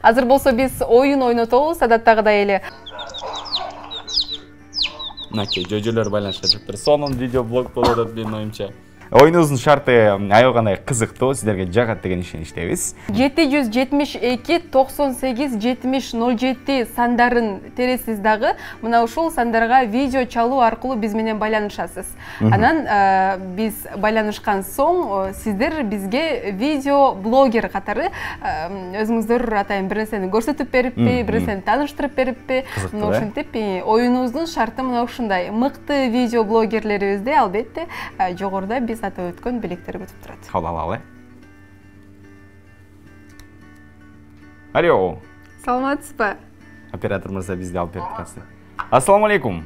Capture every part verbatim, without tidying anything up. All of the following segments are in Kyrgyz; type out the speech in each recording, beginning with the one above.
Азыр болсо биз оюн ойнотобуз, адаттагыдай эле. Мынакей жөжөлөр байланышка чыктыр. Сонун видео блог болот деп менин оюмча. Оюнубуздун шарты аябагандай кызыктуу, сиздерге жагат деген ишеничтебиз. жети жүз жетимиш эки токсон сегиз жетимиш ноль жети сандарын тересиз дагы мына ушул сандарга видео чалуу аркылуу биз менен байланышасыз. Анан биз байланышкан соң сиздер бизге видео блогер катары өзүңүздөр атайын бир нерсени көрсөтүп бериппи, бир нерсени тааныштырып бериппи, мына ушинтип оюнубуздун шарты мына ушундай. Мыкты видео блогерлерибизди албетте жогоруда биз атап өткөн белектер күтүп турат. Кабыл алалы. Алло. Саламатсызбы? Оператор мырза бизди алып берип калсы. Ассаламу алейкум.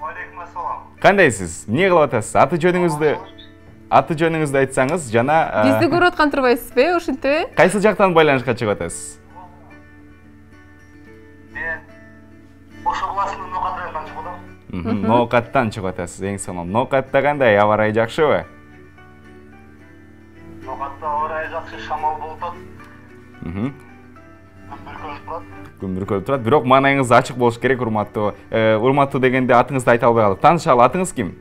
Алейкум ассалам. Кандайсыз? Эмне кылып атасыз? Аты жөнүңүздү аты жөнүңүздү айтсаңыз, жана бизди көрүп аткан турбайсызбы, ошентипи? Кайсы жактан байланышка чыгып атасыз? Мен Ошо областынын Ноокат районунан чыгып атам. Ноокаттан чыгып атасыз, эң сонун. Ноокатта кандай, аба ырайы жакшыбы? Ноокатта аба ырайы жакшы, шамал болуп атат. Мм. Күн бүркөлүп турат. Күн бүркөлүп турат, бирок маанайыңыз ачык болуш керек, урматтуу. Урматтуу дегенде атыңызды айта албай калдык. Таанышалы, атыңыз ким?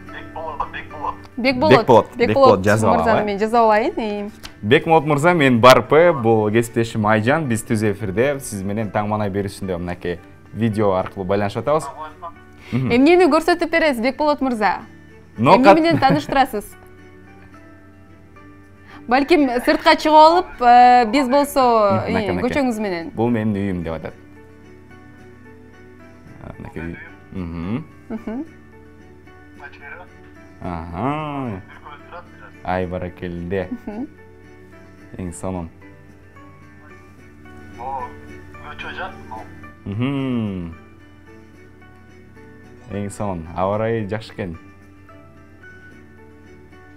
Бекболот, Бекболот. Бекболот. Бекболот жазып алалы. Мырзаны мен жазып алайын. Бекболот мырза, мен Барпы, бул кесиптешим Айжан, биз түз эфирде сиз менен таң маанай берүүсүндө мынакей видео аркылуу байланышып атабыз. Эмнени көрсөтүп бересиз, Бекболот мырза? Ноокат Эмне менен тааныштырасыз? Балким сыртка чыгып алып, биз болсо көчөңүз менен. Бул менин үйүм деп атат. Мынакей. Мм. Мм. Аха. Ай баракелде. Эң сонун. О, көчө жак. Мм. Эң сонун. Аба ырайы жакшы экен.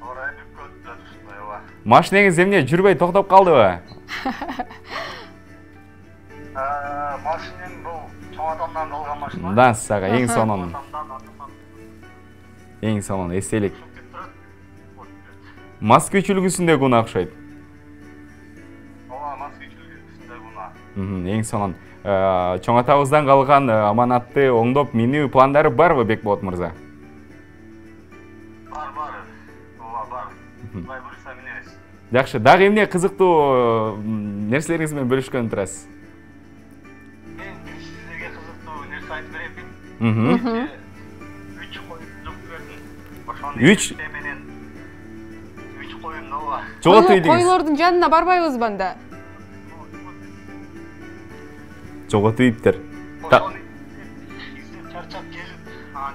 Аба ырайы бүткөт жатышындай ооба. Машинеңиз эмне жүрбөй токтоп калдыбы? Э, машинем бул чоң атамдан калган машина. Да, сага эң сонун. Эң сонун эстелик. Москвич үлгүсүндөгү уна окшойт. Ооба, Москвич үлгүсүндөгү уна. Мм, эң сонун. Чоң атабыздан калган аманатты оңдоп минүү пландары барбы, Бекболот мырза? Бар, бар. Ооба, бар. Кудай буйруса минебиз. Жакшы, дагы эмне кызыктуу нерселериңиз менен бөлүшкөн турасыз? Мен сиздерге кызыктуу нерсе айтып берейин. Мм. Үч коюм жок бердим. Ошону Үч менен үч коюм ооба. Жоготуп ийдиңиз. Койлордун жанына барбайбызбы анда? Жоготуп ийиптир. Ошону издеп чарчап келип,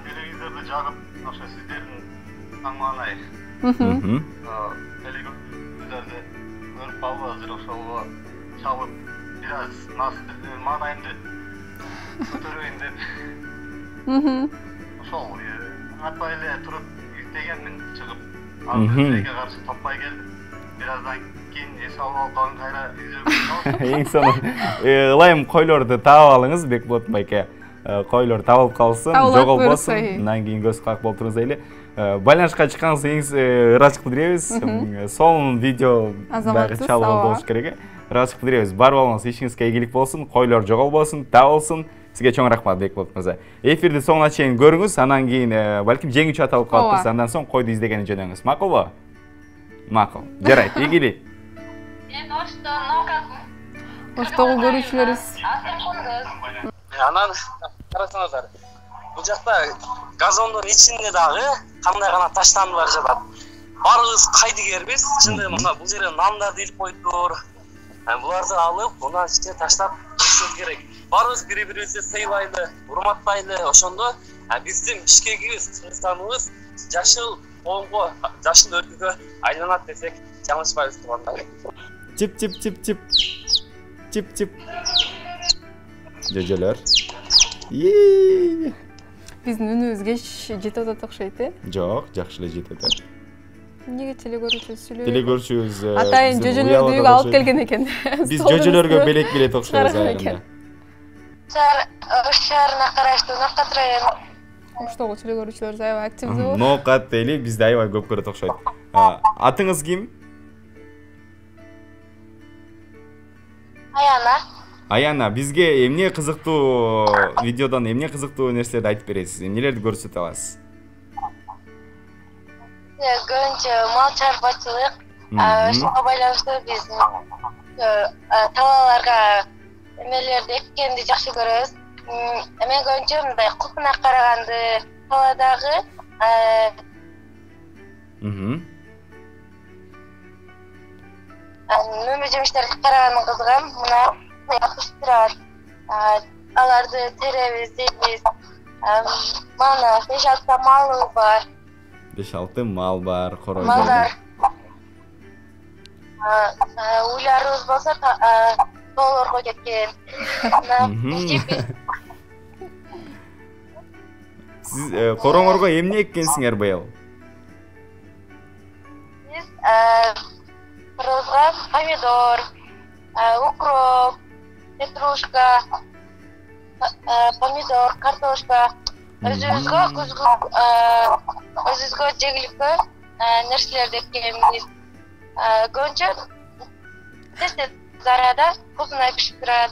телевизорду жагып, ошо сиздердин таң маанай. Мм. Телевизорду көрүп калып азыр ошого чалып, бир аз маанайымды көтөрөйүн деп. Мм. Ошол атпай эле туруп издегенмин, чыгып, ага каршы топпай келдим. Бир аздан кийин эс алып алып калган кайра издөөгө. Эң сонун. Ылайым койлорду таап алыңыз, Бекболот байке. Койлор табылып калсын, жоголбосун. Андан кийин көз как болуп туруңуз дейли. Байланышка чыкканыңыз эң ырачык билдиребиз. Сонун видео дагы чалып болуш керек. Ырачык билдиребиз. Бар болуңуз, ишиңизге ийгилик болсун, койлор жоголбосун, табылсын. Сизге чоң рахмат, Бекболот мырза. Эфирди соңуна чейин көрүңүз, анан кийин балким жеңүүчү аталып калыптыр, андан соң койду издегени жөнөңүз. Макулбу? Макул. Жарайт, ийгилик. Мен Ошто Ноокат. Оштогу көрүүчүлөрүбүз. Анан карасаңыздар. Бул жакта газондун ичинде дагы кандай гана таштандылар жатат. Баарыбыз кайдыгербиз. Чындыгы мына бул жерге нандарды илип койдур. Буларды алып, мына ичине таштап коюшубуз керек. Баарыбыз бири-бирибизди сыйлайлы, урматтайлы, ошондо биздин Бишкегибиз, Кыргызстаныбыз жашыл коомго, жашыл өлкөгө айланат десек, жаңылышпайбыз туугандар. Чип чип чип чип. Чип чип. Жөжөлөр. Ии. Биздин үнүбүз кеч жетип атат окшойт, э? Жок, жакшы эле жетип атат. Эмнеге телекөрүүчүбүз сүйлөбөйт? Телекөрүүчүбүз атайын жөжөлөрдү үйгө алып келген экен. Биз жөжөлөргө белек билет окшойбуз айрында. Ош шаарына караштуу Ноокат району. Оштогу телекөрүүчүлөр аябай активдүү. Ноокат эли бизди аябай көп көрөт окшойт. Атыңыз ким? Аяна. Аяна, бизге эмне кызыктуу видеодон эмне кызыктуу нерселерди айтып бересиз? Эмнелерди көрсөтө аласыз? Көбүнчө мал чарбачылык, ошого байланыштуу биз талааларга эмелерди эккенди жакшы көрөбүз. Мен көбүнчө мындай купуна караганды, таладагы мөмө жемиштерди караганды кызыгам. Мына жакшы турат. Аларды теребиз, жейбиз. Мана беш алты малы бар. беш алты мал бар, корой. Малдар. Уйларыбыз болсо тоолорго кеткен. Сиз короңорго эмне эккенсиңер быйыл? Биз кыргызга помидор, укроп, петрушка, помидор, картошка, өзүбүзгө күзгү өзүбүзгө жегиликтүү нерселерди эккенбиз. Көбүнчө тез-тез арада купуна пишип турат.